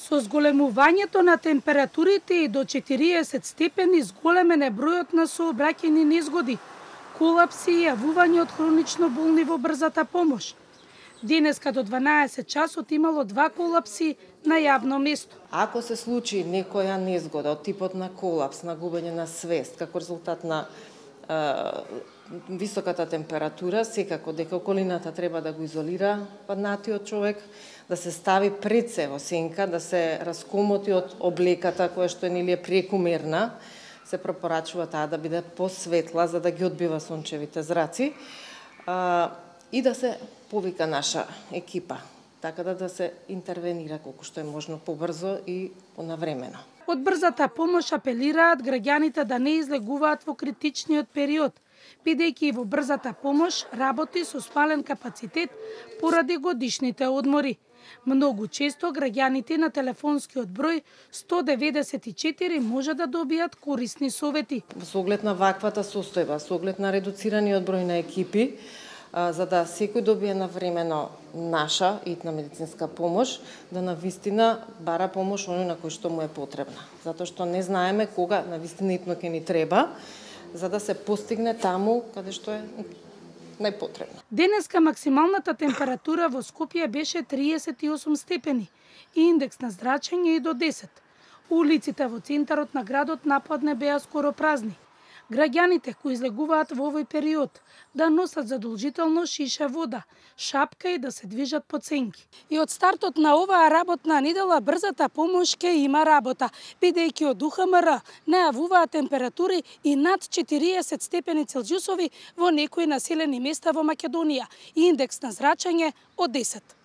Со зголемувањето на температурите и до 40 степени зголемен е бројот на сообраќајни незгоди, колапси и јавување од хронично болни во брзата помош. Денеска до 12 часот имало 2 колапси на јавно место. Ако се случи некоја незгода од типот на колапс, на губење на свест, како резултат на високата температура, секако дека околината треба да го изолира паднатиот човек, да се стави пред се во сенка, да се раскомоти од облеката која што нели е прекумерна, се препорачува таа да биде посветла за да ги одбива сончевите зраци и да се повика наша екипа, така да се интервенира колку што е можно побрзо и понавремено. Од брзата помош апелираат граѓаните да не излегуваат во критичниот период, бидејќи во брзата помош работи со спален капацитет поради годишните одмори. Многу често граѓаните на телефонскиот број 194 може да добијат корисни совети. Со оглед на ваквата состојба, со оглед на редуцираниот број на екипи, за да секој добие навремено наша итна медицинска помош, да навистина бара помош оној на кој што му е потребна. Затоа што не знаеме кога навистина итно ќе ни треба, за да се постигне таму каде што е најпотребно. Денеска максималната температура во Скопје беше 38 степени и индекс на зрачење и до 10. Улиците во центарот на градот напладне беа скоро празни. Граѓаните кои излегуваат во овој период да носат задолжително шиша вода, шапка и да се движат по ценки. И од стартот на оваа работна недела брзата помош ќе има работа, бидејќи од УХМР најавуваат температури и над 40 степени Целзиусови во некои населени места во Македонија и индекс на зрачење од 10.